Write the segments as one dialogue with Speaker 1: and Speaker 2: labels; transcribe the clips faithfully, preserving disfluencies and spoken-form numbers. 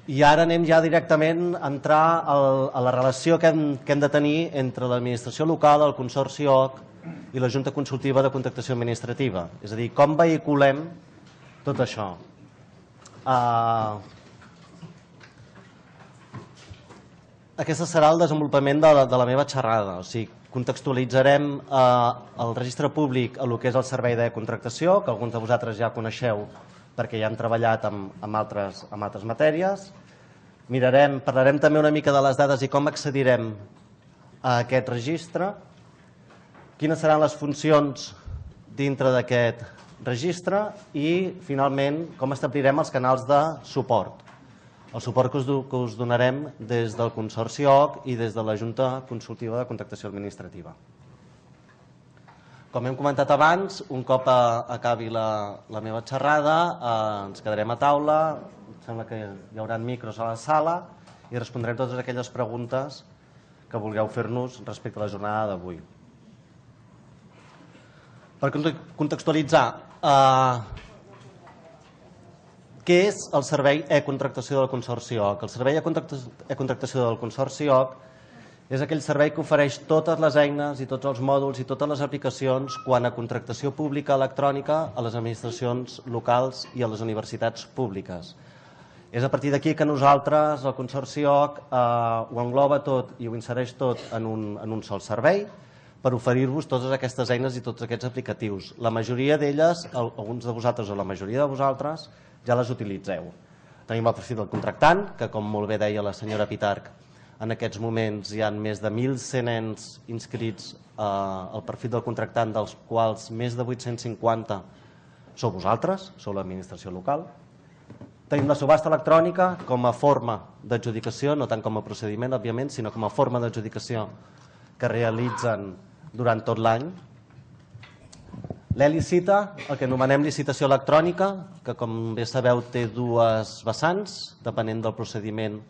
Speaker 1: i ara anem ja directament a entrar a la relació que hem de tenir entre l'administració local, el Consorci O C i la Junta Consultiva de Contractació Administrativa. És a dir, com vehiculem tot això. Aquest serà el desenvolupament de la meva xerrada. O sigui, contextualitzarem el registre públic a el que és el servei de contractació, que alguns de vosaltres ja coneixeu perquè ja hem treballat amb altres matèries. Mirarem, parlarem també una mica de les dades i com accedirem a aquest registre, quines seran les funcions dintre d'aquest registre i, finalment, com establirem els canals de suport. El suport que us donarem des del Consorci O C i des de la Junta Consultiva de Contractació Administrativa. Com hem comentat abans, un cop acabi la meva xerrada, ens quedarem a taula, em sembla que hi haurà micros a la sala i respondrem totes aquelles preguntes que vulgueu fer-nos respecte a la jornada d'avui. Per contextualitzar, què és el servei e-contractació del Consorci O C? El servei e-contractació del Consorci O C és aquell servei que ofereix totes les eines i tots els mòduls i totes les aplicacions quant a contractació pública electrònica a les administracions locals i a les universitats públiques. És a partir d'aquí que nosaltres, el Consorci O C, ho engloba tot i ho insereix tot en un sol servei per oferir-vos totes aquestes eines i tots aquests aplicatius. La majoria d'elles, alguns de vosaltres o la majoria de vosaltres, ja les utilitzeu. Tenim el perfil del contractant, que com molt bé deia la senyora Pitarch, en aquests moments hi ha més de mil cent ens inscrits al perfil del contractant, dels quals més de vuit-cents cinquanta sou vosaltres, sou l'administració local. Tenim la subhasta electrònica com a forma d'adjudicació, no tant com a procediment, òbviament, sinó com a forma d'adjudicació que realitzen durant tot l'any. L'e-licita, el que anomenem licitació electrònica, que com bé sabeu té dues vessants, depenent del procediment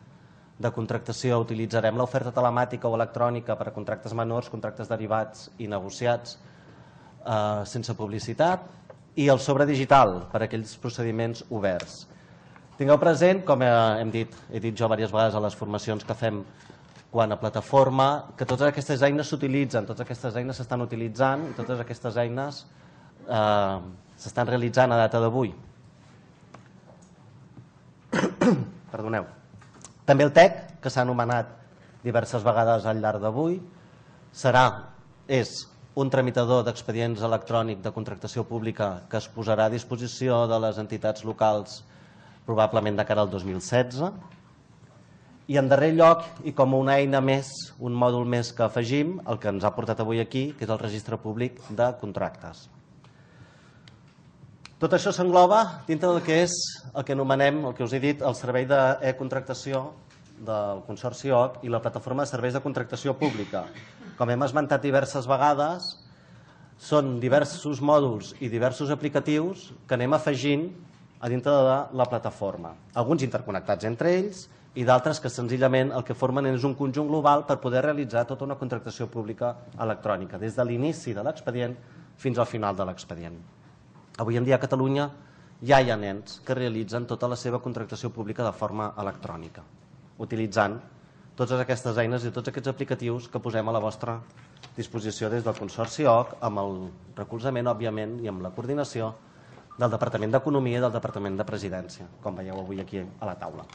Speaker 1: de contractació utilitzarem l'oferta telemàtica o electrònica per a contractes menors, contractes derivats i negociats sense publicitat, i el sobre digital per a aquells procediments oberts. Tingueu present, com hem dit, he dit jo diverses vegades a les formacions que fem quant a plataforma, que totes aquestes eines s'utilitzen, totes aquestes eines s'estan utilitzant i totes aquestes eines s'estan realitzant a data d'avui. Perdoneu. També el T E C, que s'ha anomenat diverses vegades al llarg d'avui, serà, és un tramitador d'expedients electrònic de contractació pública que es posarà a disposició de les entitats locals probablement de cara al dos mil setze. I en darrer lloc, i com una eina més, un mòdul més que afegim, el que ens ha portat avui aquí, que és el registre públic de contractes. Tot això s'engloba dintre del que és el que anomenem, el que us he dit, el servei d'e-contractació del Consorci O C i la plataforma de serveis de contractació pública. Com hem esmentat diverses vegades, són diversos mòduls i diversos aplicatius que anem afegint a dintre de la plataforma. Alguns interconnectats entre ells i d'altres que senzillament el que formen és un conjunt global per poder realitzar tota una contractació pública electrònica, des de l'inici de l'expedient fins al final de l'expedient. Avui en dia a Catalunya ja hi ha nens que realitzen tota la seva contractació pública de forma electrònica, utilitzant totes aquestes eines i tots aquests aplicatius que posem a la vostra disposició des del Consorci O C, amb el recolzament, òbviament, i amb la coordinació del Departament d'Economia i del Departament de Presidència, com veieu avui aquí a la taula.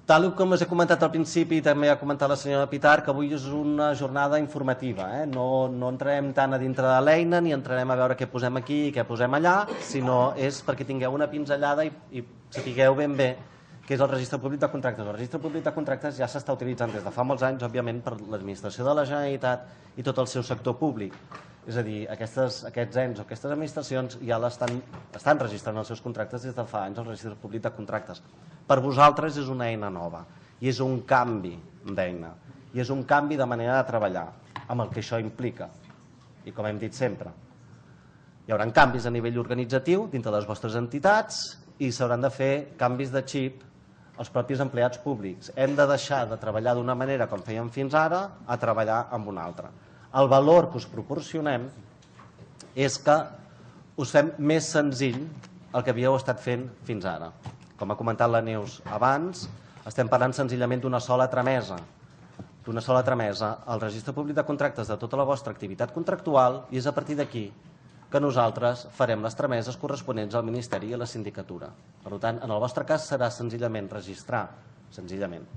Speaker 1: Tal com us he comentat al principi i també ha comentat la senyora Pitarch, avui és una jornada informativa. No entrarem tant a dintre de l'eina ni entrarem a veure què posem aquí i què posem allà, sinó és perquè tingueu una pinzellada i sapigueu ben bé què és el registre públic de contractes. El registre públic de contractes ja s'està utilitzant des de fa molts anys, òbviament, per l'administració de la Generalitat i tot el seu sector públic. És a dir, aquests ens o aquestes administracions ja estan registrant els seus contractes des de fa anys al registre públic de contractes. Per vosaltres és una eina nova i és un canvi d'eina i és un canvi de manera de treballar amb el que això implica. I com hem dit sempre, hi haurà canvis a nivell organitzatiu dintre de les vostres entitats i s'hauran de fer canvis de xip els propis empleats públics. Hem de deixar de treballar d'una manera com fèiem fins ara a treballar amb una altra. El valor que us proporcionem és que us fem més senzill el que havíeu estat fent fins ara. Com ha comentat la Neus abans, estem parlant senzillament d'una sola tramesa, d'una sola tramesa al registre públic de contractes de tota la vostra activitat contractual, i és a partir d'aquí que nosaltres farem les trameses corresponents al Ministeri i a la Sindicatura. Per tant, en el vostre cas serà senzillament registrar, senzillament,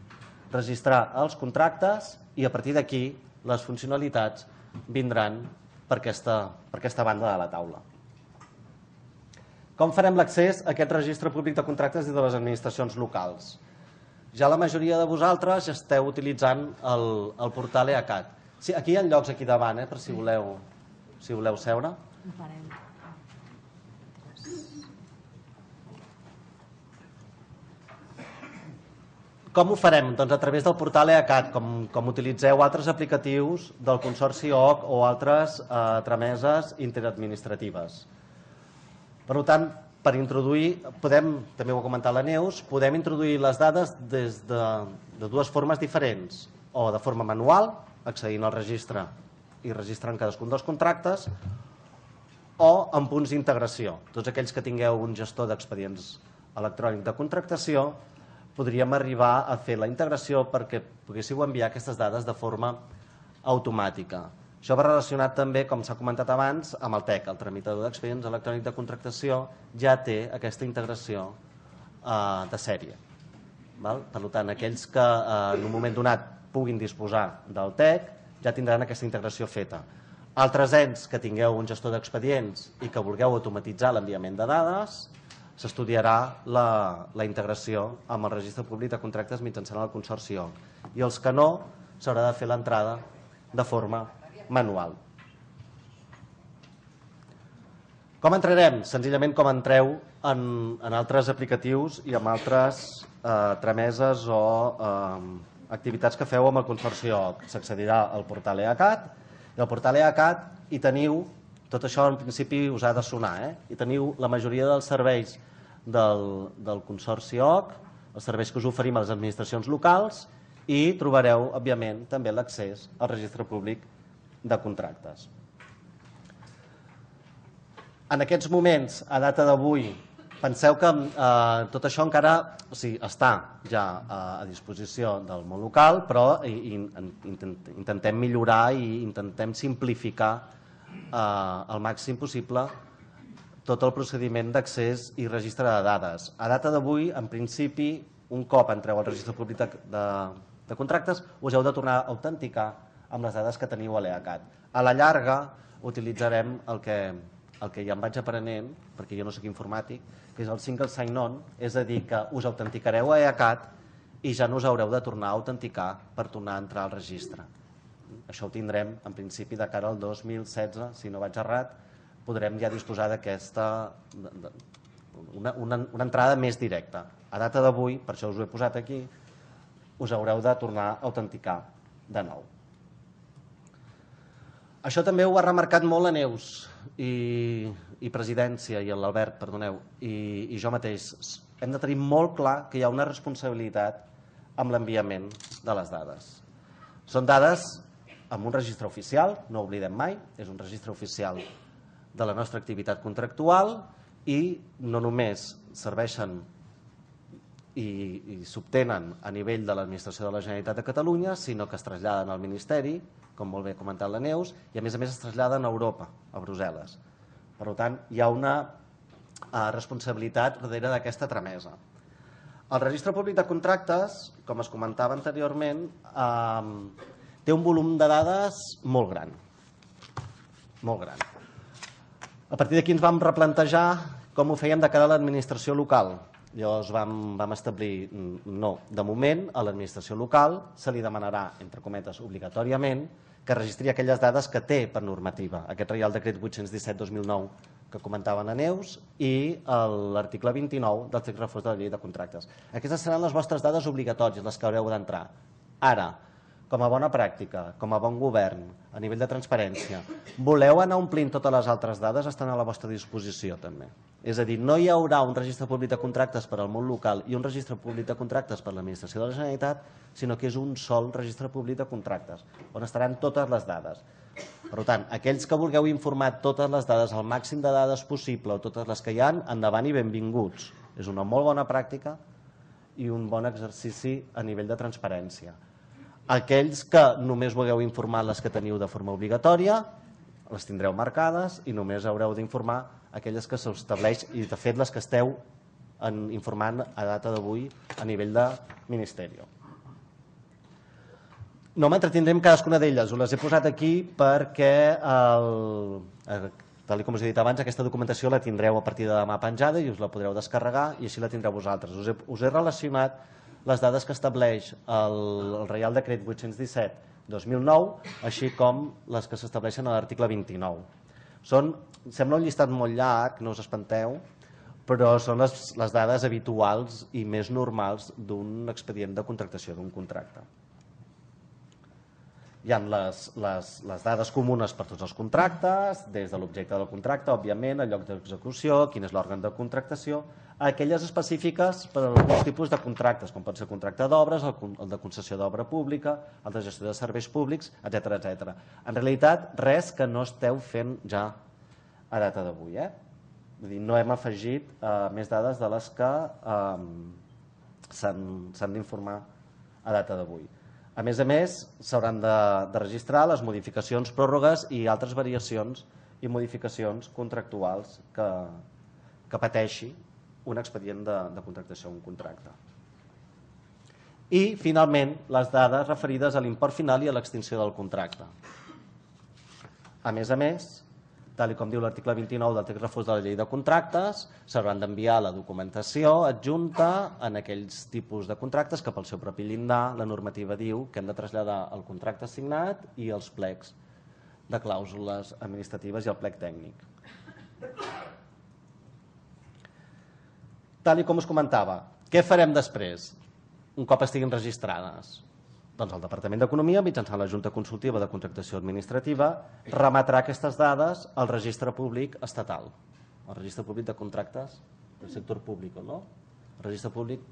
Speaker 1: registrar els contractes, i a partir d'aquí les funcionalitats vindran per aquesta, per aquesta banda de la taula. Com farem l'accés a aquest registre públic de contractes des de les administracions locals? Ja la majoria de vosaltres ja esteu utilitzant el, el portal EACAT. Sí, aquí hi ha llocs aquí davant, eh, per si voleu, si voleu seure. Com ho farem? Doncs a través del portal EACAT, com, com utilitzeu altres aplicatius del Consorci O C o altres eh, trameses interadministratives. Per tant, per introduir, podem, també ho ha comentat la Neus, podem introduir les dades des de, de dues formes diferents, o de forma manual, accedint al registre i registrant cadascun dels contractes, o en punts d'integració. Tots aquells que tingueu un gestor d'expedients electrònic de contractació, podríem arribar a fer la integració perquè poguéssiu enviar aquestes dades de forma automàtica. Això va relacionat també, com s'ha comentat abans, amb el T E C, el tramitador d'expedients electrònic de contractació, ja té aquesta integració eh, de sèrie. Val? Per tant, aquells que eh, en un moment donat puguin disposar del T E C ja tindran aquesta integració feta. Altres ens que tingueu un gestor d'expedients i que vulgueu automatitzar l'enviament de dades, s'estudiarà la, la integració amb el registre públic de contractes mitjançant el Consorci O C. I els que no, s'haurà de fer l'entrada de forma manual. Com entrarem? Senzillament com entreu en, en altres aplicatius i en altres eh, trameses o eh, activitats que feu amb el Consorci O C. S'accedirà al portal EACAT, i al portal EACAT hi teniu, tot això en principi us ha de sonar, eh? Hi teniu la majoria dels serveis del, del Consorci O C, els serveis que us oferim a les administracions locals, i trobareu, òbviament, també l'accés al registre públic de contractes. En aquests moments, a data d'avui, penseu que eh, tot això encara o sigui, està ja eh, a disposició del món local, però i, i, intentem millorar i intentem simplificar eh, al màxim possible tot el procediment d'accés i registre de dades. A data d'avui, en principi, un cop entreu al registre públic de, de, de contractes, us heu de tornar a autenticar amb les dades que teniu a l'EACAT. A la llarga utilitzarem el que, el que ja em vaig aprenent, perquè jo no soc informàtic, que és el single sign-on, és a dir, que us autenticareu a EACAT i ja no us haureu de tornar a autenticar per tornar a entrar al registre. Això ho tindrem, en principi, de cara al dos mil setze, si no vaig errat, podrem ja disposar d'aquesta una, una, una entrada més directa. A data d'avui, per això us ho he posat aquí, us haureu de tornar a autenticar de nou. Això també ho ha remarcat molt la Neus i, i Presidència i l'Albert, perdoneu, i, i jo mateix. Hem de tenir molt clar que hi ha una responsabilitat amb l'enviament de les dades. Són dades amb un registre oficial, no ho oblidem mai, és un registre oficial de la nostra activitat contractual i no només serveixen i, i s'obtenen a nivell de l'Administració de la Generalitat de Catalunya, sinó que es traslladen al Ministeri, com molt bé ha comentat la Neus, i a més a més es traslladen a Europa, a Brussel·les. Per tant, hi ha una eh, responsabilitat darrere d'aquesta tramesa. El registre públic de contractes, com es comentava anteriorment, eh, té un volum de dades molt gran. Molt gran. A partir d'aquí ens vam replantejar com ho fèiem de cara a l'administració local. Llavors vam, vam establir, no, de moment a l'administració local se li demanarà, entre cometes, obligatòriament, que registri aquelles dades que té per normativa. Aquest Reial Decret vuit-cents disset dos mil nou que comentaven a Neus i l'article vint-i-nou del text refós de la llei de contractes. Aquestes seran les vostres dades obligatòries, les que haureu d'entrar. Ara, com a bona pràctica, com a bon govern, a nivell de transparència, voleu anar omplint totes les altres dades, estan a la vostra disposició també. És a dir, no hi haurà un registre públic de contractes per al món local i un registre públic de contractes per a l'Administració de la Generalitat, sinó que és un sol registre públic de contractes, on estaran totes les dades. Per Per tant, aquells que vulgueu informar totes les dades, el màxim de dades possible, o totes les que hi ha, endavant i benvinguts. És una molt bona pràctica i un bon exercici a nivell de transparència. Aquells que només vulgueu informar les que teniu de forma obligatòria, les tindreu marcades i només haureu d'informar aquelles que s'estableix i, de fet, les que esteu informant a data d'avui a nivell de Ministeri. No m'entretindré en cadascuna d'elles, us les he posat aquí perquè, tal com us he dit abans, aquesta documentació la tindreu a partir de demà penjada i us la podreu descarregar i així la tindreu vosaltres. Us he relacionat les dades que estableix el Reial Decret vuit-cents disset dos mil nou, així com les que s'estableixen a l'article vint-i-nou. Sembla un llistat molt llarg, no us espanteu, però són les dades habituals i més normals d'un expedient de contractació d'un contracte. Hi ha les dades comunes per tots els contractes, des de l'objecte del contracte, òbviament, el lloc d'execució, quin és l'òrgan de contractació, aquelles específiques per a alguns tipus de contractes, com pot ser el contracte d'obres, el de concessió d'obra pública, el de gestió de serveis públics, etcètera, etcètera. En realitat, res que no esteu fent ja a data d'avui. No hem afegit més dades de les que s'han d'informar a data d'avui. A més a més, s'hauran de registrar les modificacions, pròrrogues i altres variacions i modificacions contractuals que pateixi un expedient de contractació o un contracte. I, finalment, les dades referides a l'import final i a l'extinció del contracte. A més a més, tal com diu l'article vint-i-nou del text refós de la llei de contractes, s'hauran d'enviar la documentació adjunta en aquells tipus de contractes que pel seu propi llindar la normativa diu que hem de traslladar el contracte signat i els plecs de clàusules administratives i el plec tècnic. Tal com us comentava, què farem després, un cop estiguin registrades? Doncs el Departament d'Economia, mitjançant la Junta Consultiva de Contractació Administrativa, remetrà aquestes dades al registre públic estatal, al registre públic de contractes del sector públic, no? Registre públic,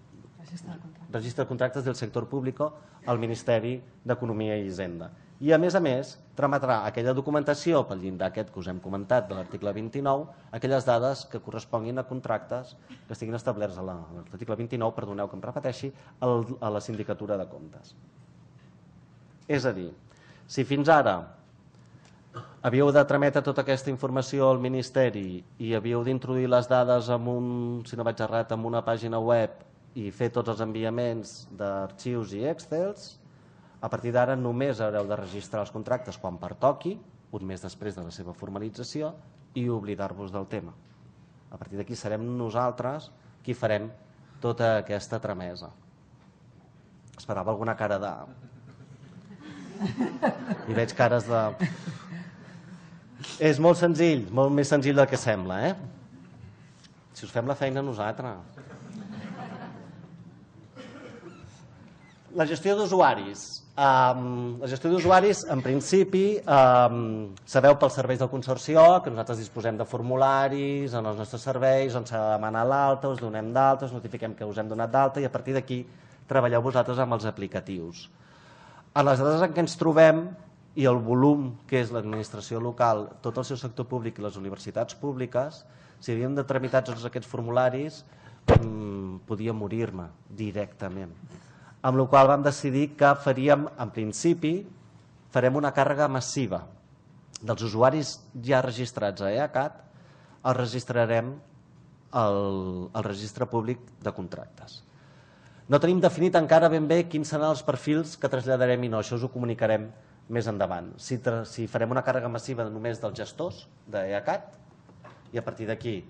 Speaker 1: registre de contractes del sector públic al Ministeri d'Economia i Hisenda. I, a més a més, trametrà aquella documentació pel llindar aquest que us hem comentat de l'article vint-i-nou, aquelles dades que corresponguin a contractes que estiguin establerts a l'article vint-i-nou, perdoneu que em repeteixi, a la Sindicatura de Comptes. És a dir, si fins ara havíeu de trametre tota aquesta informació al Ministeri i havíeu d'introduir les dades en un, si no vaig errat, en una pàgina web i fer tots els enviaments d'arxius i Excels, a partir d'ara només haureu de registrar els contractes quan pertoqui, un mes després de la seva formalització, i oblidar-vos del tema. A partir d'aquí serem nosaltres qui farem tota aquesta tramesa. Esperava alguna cara de... I veig cares de... És molt senzill, molt més senzill del que sembla, eh? Si us fem la feina a nosaltres. La gestió d'usuaris. La gestió d'usuaris, en principi, sabeu pels serveis del Consorci O que nosaltres disposem de formularis en els nostres serveis on s'ha de demanar l'alta, us donem d'alta, us notifiquem que us hem donat d'alta i a partir d'aquí treballeu vosaltres amb els aplicatius. En les dades en què ens trobem i el volum que és l'administració local, tot el seu sector públic i les universitats públiques, si havíem de tramitar tots aquests formularis, podia morir-me directament. Amb la qual vam decidir que faríem, en principi, farem una càrrega massiva dels usuaris ja registrats a EACAT, els registrarem al registre públic de contractes. No tenim definit encara ben bé quins seran els perfils que traslladarem i no, això us ho comunicarem més endavant. Si farem una càrrega massiva només dels gestors d'EACAT i a partir d'aquí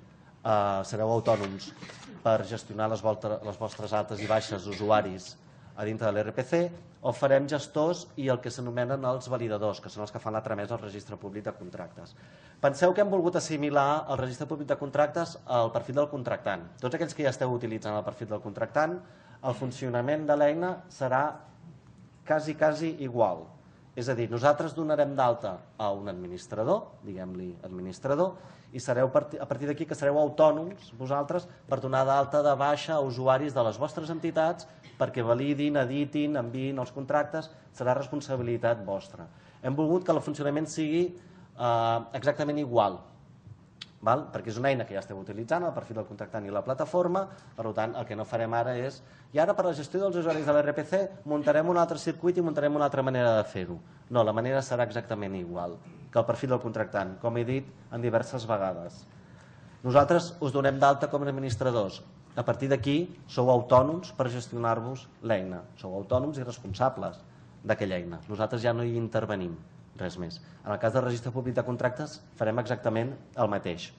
Speaker 1: sereu autònoms per gestionar les vostres altes i baixes d'usuaris a dintre de l'R P C, o farem gestors i el que s'anomenen els validadors, que són els que fan la tramesa al registre públic de contractes. Penseu que hem volgut assimilar el registre públic de contractes al perfil del contractant. Tots aquells que ja esteu utilitzant el perfil del contractant, el funcionament de l'eina serà quasi, quasi igual. És a dir, nosaltres donarem d'alta a un administrador, diguem-li administrador, i sereu a partir d'aquí que sereu autònoms vosaltres per donar d'alta de baixa a usuaris de les vostres entitats perquè validin, editin, enviïn els contractes, serà responsabilitat vostra. Hem volgut que el funcionament sigui exactament igual, perquè és una eina que ja esteu utilitzant, el perfil del contractant i la plataforma, per tant, el que no farem ara és, i ara per la gestió dels usuaris de l'R P C muntarem un altre circuit i muntarem una altra manera de fer-ho. No, la manera serà exactament igual que el perfil del contractant, com he dit en diverses vegades. Nosaltres us donem d'alta com a administradors. A partir d'aquí sou autònoms per gestionar-vos l'eina. Sou autònoms i responsables d'aquella eina. Nosaltres ja no hi intervenim, res més. En el cas del registre públic de contractes farem exactament el mateix.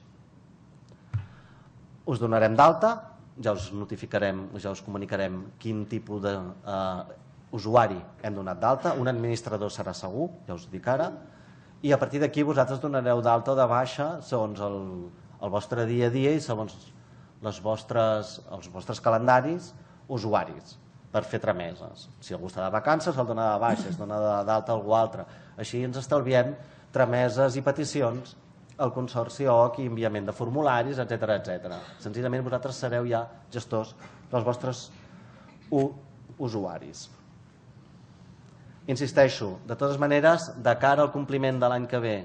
Speaker 1: Us donarem d'alta, ja us notificarem, ja us comunicarem quin tipus d'usuari hem donat d'alta, un administrador serà segur, ja us ho dic ara, i a partir d'aquí vosaltres donareu d'alta o de baixa segons el vostre dia a dia i segons els vostres calendaris usuaris per fer trameses. Si algú està de vacances el dona de baixa, es dona d'alta a algú altre. Així ens estalviem trameses i peticions al Consorci O C i enviament de formularis, etcètera, etcètera. Senzillament vosaltres sereu ja gestors dels vostres usuaris. Insisteixo, de totes maneres, de cara al compliment de l'any que ve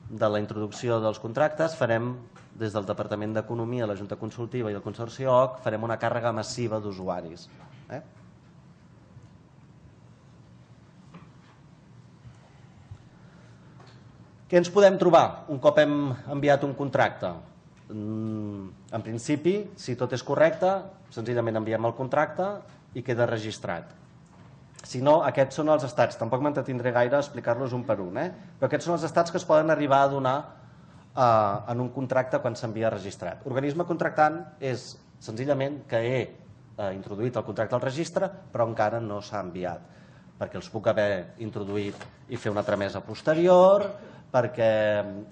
Speaker 1: de la introducció dels contractes, farem, des del Departament d'Economia, la Junta Consultiva i el Consorci O C, farem una càrrega massiva d'usuaris. Què ens podem trobar un cop hem enviat un contracte? En principi, si tot és correcte, senzillament enviem el contracte i queda registrat. Si no, aquests són els estats. Tampoc m'entretindré gaire a explicar-los un per un, però aquests són els estats que es poden arribar a donar en un contracte quan s'envia registrat. Organisme contractant és senzillament que he introduït el contracte al registre però encara no s'ha enviat, perquè els puc haver introduït i fer una tramesa posterior, perquè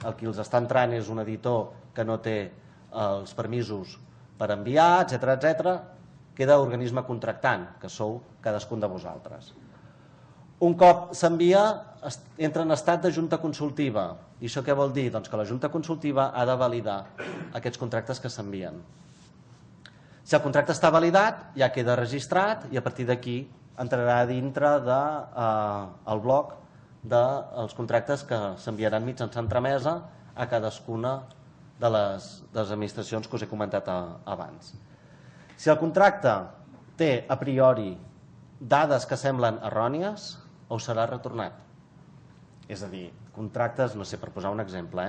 Speaker 1: el qui els està entrant és un editor que no té els permisos per enviar, etcètera, etcètera. Queda organisme contractant, que sou cadascun de vosaltres. Un cop s'envia, entra en estat de junta consultiva. I això què vol dir? Doncs que la junta consultiva ha de validar aquests contractes que s'envien. Si el contracte està validat, ja queda registrat i a partir d'aquí entrarà dintre del bloc dels contractes que s'enviaran mitjançant tramesa a cadascuna de les administracions que us he comentat abans. Si el contracte té a priori dades que semblen errònies, us serà retornat. És a dir, contractes, no sé, per posar un exemple,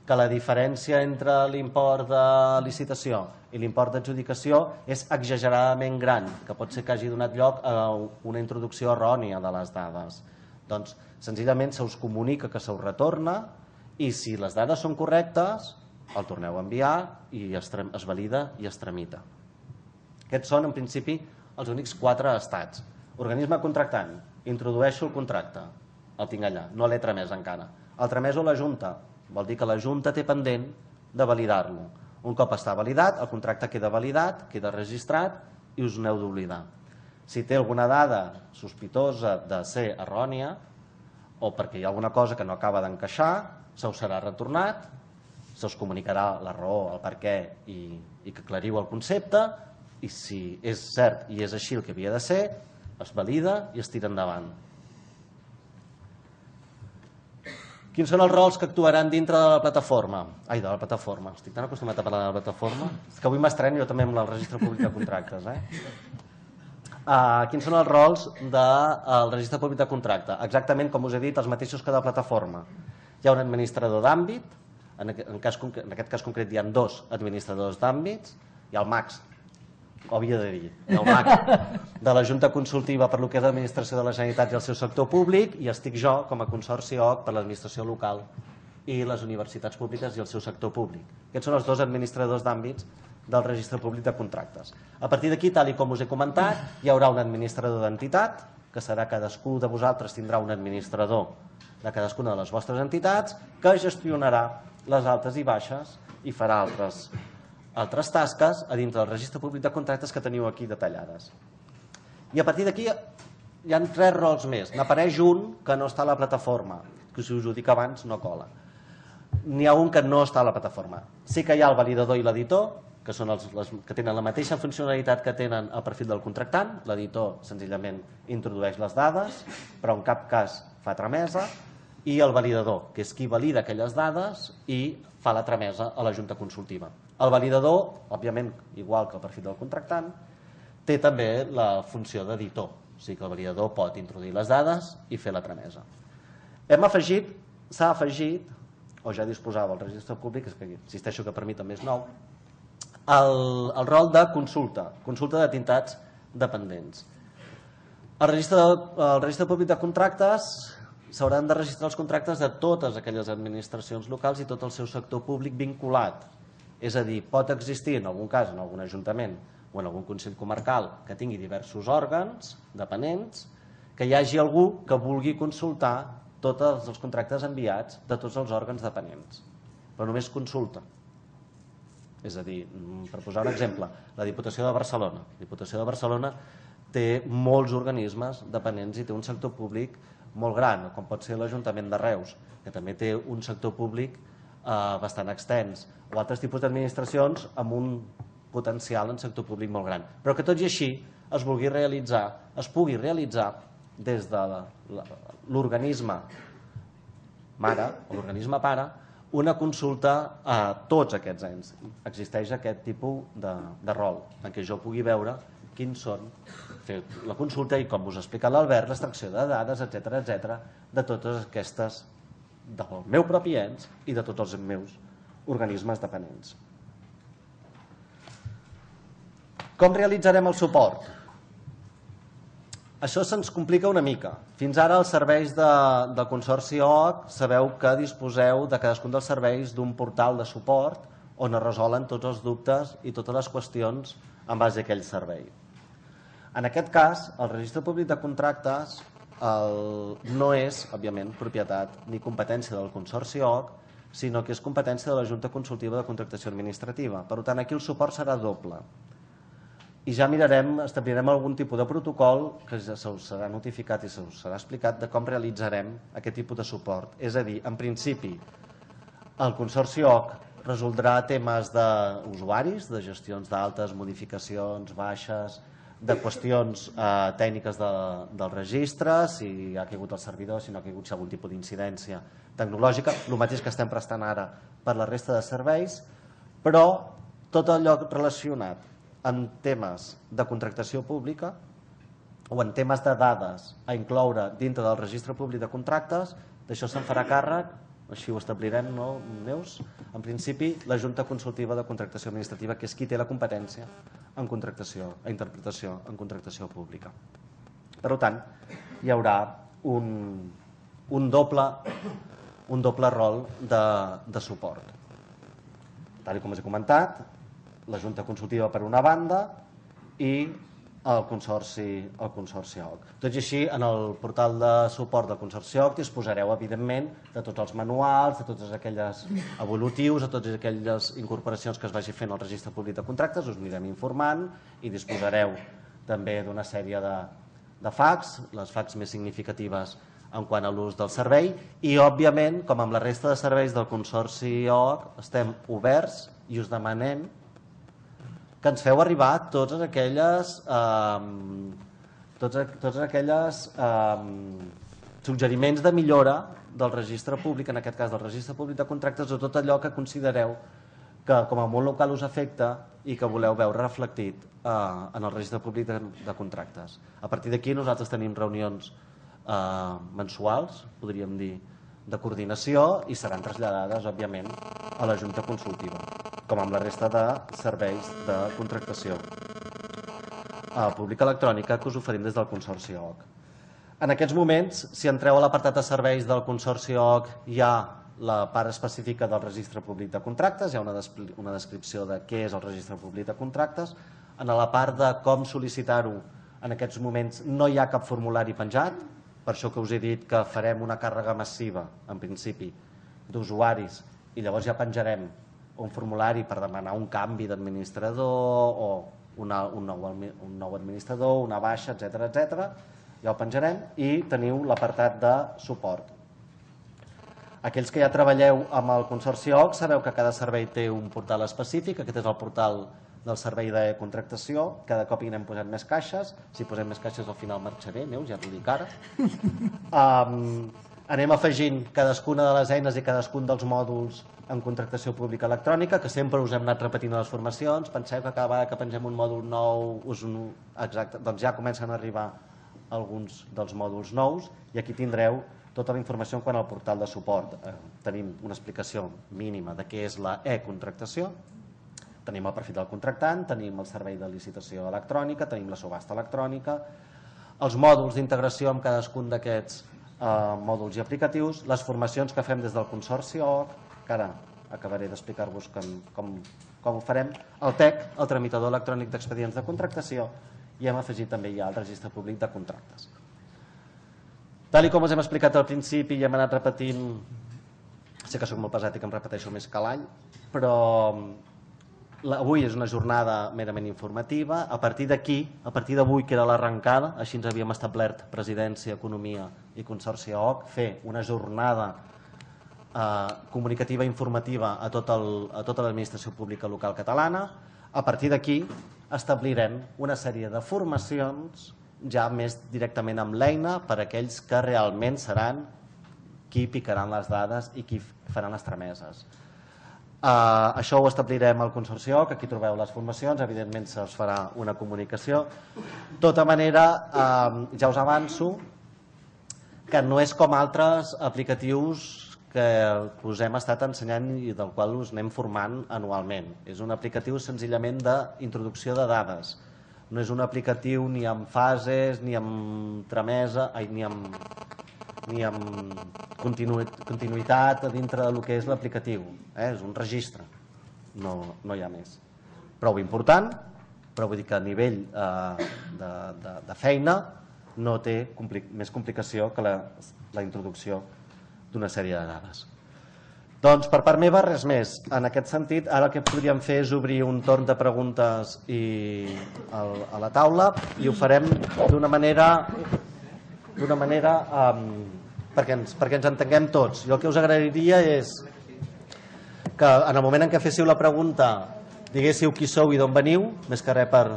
Speaker 1: que la diferència entre l'import de licitació i l'import d'adjudicació és exageradament gran, que pot ser que hagi donat lloc a una introducció errònia de les dades. Doncs, senzillament, se us comunica que se us retorna i si les dades són correctes, el torneu a enviar i es valida i es tramita. Aquests són, en principi, els únics quatre estats. Organisme contractant, introdueixo el contracte, el tinc allà, no l'he tramès encara. El trameso a la Junta, vol dir que la Junta té pendent de validar-lo. Un cop està validat, el contracte queda validat, queda registrat i us n'heu d'oblidar. Si té alguna dada sospitosa de ser errònia o perquè hi ha alguna cosa que no acaba d'encaixar, se us serà retornat, se us comunicarà la raó, el per què i que aclariu el concepte i si és cert i és així el que havia de ser, es valida i es tira endavant. Quins són els rols que actuaran dintre de la plataforma? Ai, de la plataforma. Estic tan acostumat a parlar de la plataforma. És que avui m'estreno jo també amb el registre públic de contractes. Quins són els rols del registre públic de contracte? Exactament, com us he dit, els mateixos que de la plataforma. Hi ha un administrador d'àmbit, en aquest cas concret hi ha dos administradors d'àmbits, hi ha el Max, ho havia de dir, el Max de la Junta Consultiva per lo que és l'administració de la Generalitat i el seu sector públic i estic jo com a Consorci O C per l'administració local i les universitats públiques i el seu sector públic. Aquests són els dos administradors d'àmbits del registre públic de contractes. A partir d'aquí, tal com us he comentat, hi haurà un administrador d'entitat, que serà cadascú de vosaltres tindrà un administrador de cadascuna de les vostres entitats, que gestionarà les altes i baixes i farà altres altres tasques a dintre del registre públic de contractes que teniu aquí detallades. I a partir d'aquí hi ha tres rols més. N'apareix un que no està a la plataforma, que si us ho dic abans no cola. N'hi ha un que no està a la plataforma. Sí que hi ha el validador i l'editor, que són els que tenen la mateixa funcionalitat que tenen el perfil del contractant. L'editor senzillament introdueix les dades, però en cap cas fa tramesa, i el validador, que és qui valida aquelles dades i fa la tramesa a la Junta Consultiva. El validador, òbviament, igual que el perfil del contractant, té també la funció d'editor, o sigui que el validador pot introduir les dades i fer la tramesa. Hem afegit, s'ha afegit, o ja disposava el registre públic, és que insisteixo que per mi també és nou, el, el rol de consulta, consulta d'entitats dependents. El registre, el registre públic de contractes s'hauran de registrar els contractes de totes aquelles administracions locals i tot el seu sector públic vinculat. És a dir, pot existir en algun cas en algun ajuntament o en algun consell comarcal que tingui diversos òrgans dependents, que hi hagi algú que vulgui consultar tots els contractes enviats de tots els òrgans dependents, però només consulta. És a dir, per posar un exemple, la Diputació de Barcelona. La Diputació de Barcelona té molts organismes dependents i té un sector públic molt gran, com pot ser l'Ajuntament de Reus, que també té un sector públic eh, bastant extens, o altres tipus d'administracions amb un potencial en sector públic molt gran. Però que tot i així es vulgui realitzar, es pugui realitzar des de l'organisme mare o l'organisme pare una consulta a tots aquests ens. Existeix aquest tipus de, de rol en què jo pugui veure quins són, fer la consulta i, com us ha explicat l'Albert, l'extracció de dades, etcètera, etcètera, de totes aquestes, del meu propi ens i de tots els meus organismes dependents. Com realitzarem el suport? Això se'ns complica una mica. Fins ara els serveis de, del Consorci O O C sabeu que disposeu de cadascun dels serveis d'un portal de suport on es resolen tots els dubtes i totes les qüestions en base a aquell servei. En aquest cas, el Registre Públic de Contractes el, no és, òbviament, propietat ni competència del Consorci O O C, sinó que és competència de la Junta Consultiva de Contractació Administrativa. Per tant, aquí el suport serà doble. I ja mirarem, establirem algun tipus de protocol que se us serà notificat i se us serà explicat de com realitzarem aquest tipus de suport. És a dir, en principi, el Consorci O O C resoldrà temes d'usuaris, de gestions d'altes, modificacions, baixes, de qüestions eh, tècniques de, del registre, si ha caigut el servidor, si no ha caigut, si hi ha algun tipus d'incidència tecnològica, el mateix que estem prestant ara per la resta de serveis, però tot allò relacionat en temes de contractació pública o en temes de dades a incloure dintre del registre públic de contractes, d'això se'n farà càrrec, així ho establirem, no, Neus? En principi, la Junta Consultiva de Contractació Administrativa, que és qui té la competència en contractació, a interpretació en contractació pública. Per tant, hi haurà un, un, doble, un doble rol de, de suport. Tal com us he comentat, la Junta Consultiva per una banda i el Consorci, el Consorci O O C. Tot i així, en el portal de suport del Consorci O O C disposareu, evidentment, de tots els manuals, de tots aquells evolutius, de totes aquelles incorporacions que es vagi fent al Registre Públic de Contractes, us anirem informant i disposareu també d'una sèrie de, de facs, les facs més significatives en quant a l'ús del servei i, òbviament, com amb la resta de serveis del Consorci O O C, estem oberts i us demanem que ens feu arribar totes aquelles, eh, totes, totes aquelles eh, suggeriments de millora del registre públic, en aquest cas del registre públic de contractes, o tot allò que considereu que com a món local us afecta i que voleu veure reflectit eh, en el registre públic de, de contractes. A partir d'aquí nosaltres tenim reunions eh, mensuals, podríem dir, de coordinació i seran traslladades, òbviament, a la Junta Consultiva, com amb la resta de serveis de contractació eh, pública electrònica que us oferim des del Consorci O O C. En aquests moments, si entreu a l'apartat de serveis del Consorci O O C, hi ha la part específica del Registre Públic de Contractes, hi ha una, una descripció de què és el Registre Públic de Contractes. En la part de com sol·licitar-ho, en aquests moments no hi ha cap formulari penjat, per això que us he dit que farem una càrrega massiva, en principi, d'usuaris, i llavors ja penjarem un formulari per demanar un canvi d'administrador o una, un, nou, un nou administrador, una baixa, etcètera, etcètera. ja ho penjarem, i teniu l'apartat de suport. Aquells que ja treballeu amb el Consorci O C sabeu que cada servei té un portal específic. Aquest és el portal del servei de contractació. Cada cop hi anem posant més caixes. Si posem més caixes al final marxaré, Neus, ja t'ho dic ara. Um, anem afegint cadascuna de les eines i cadascun dels mòduls en contractació pública electrònica, que sempre us hem anat repetint a les formacions. Penseu que cada vegada que pengem un mòdul nou, us un... Exacte, doncs ja comencen a arribar alguns dels mòduls nous, i aquí tindreu tota la informació quant al portal de suport. Eh, tenim una explicació mínima de què és la e-contractació, tenim el perfil del contractant, tenim el servei de licitació electrònica, tenim la subhasta electrònica, els mòduls d'integració amb cadascun d'aquests eh, mòduls i aplicatius, les formacions que fem des del Consorci O C, que ara acabaré d'explicar-vos com, com, com ho farem, el T E C, el tramitador electrònic d'expedients de contractació, i hem afegit també ja el registre públic de contractes. Tal com us hem explicat al principi i hem anat repetint, sé que soc molt pesat i que em repeteixo més que l'any, però avui és una jornada merament informativa. A partir d'aquí, a partir d'avui, que era l'arrencada, així ens havíem establert Presidència, Economia i Consorci O C, fer una jornada eh, comunicativa i informativa a, tot el, a tota l'administració pública local catalana. A partir d'aquí establirem una sèrie de formacions ja més directament amb l'eina per a aquells que realment seran qui picaran les dades i qui faran les trameses. Uh, això ho establirem al Consorci O C, aquí trobeu les formacions, evidentment se us farà una comunicació. De tota manera, uh, ja us avanço que no és com altres aplicatius que us hem estat ensenyant i del qual us anem formant anualment. És un aplicatiu senzillament d'introducció de dades. No és un aplicatiu ni amb fases, ni amb tramesa, ai, ni amb, ni amb continuïtat dintre del que és l'aplicatiu. Eh? És un registre, no, no hi ha més. Prou important, però vull dir que a nivell eh, de, de, de feina no té compli més complicació que la, la introducció d'una sèrie de dades. Doncs per part meva res més. En aquest sentit, ara el que podríem fer és obrir un torn de preguntes i a la taula, i ho farem d'una manera, d'una manera um, perquè, ens, perquè ens entenguem tots. Jo el que us agrairia és que en el moment en què féssiu la pregunta diguéssiu qui sou i d'on veniu, més que res per,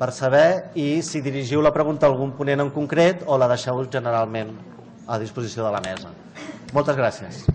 Speaker 1: per saber, i si dirigiu la pregunta a algun ponent en concret o la deixeu generalment a disposició de la mesa. Moltes gràcies.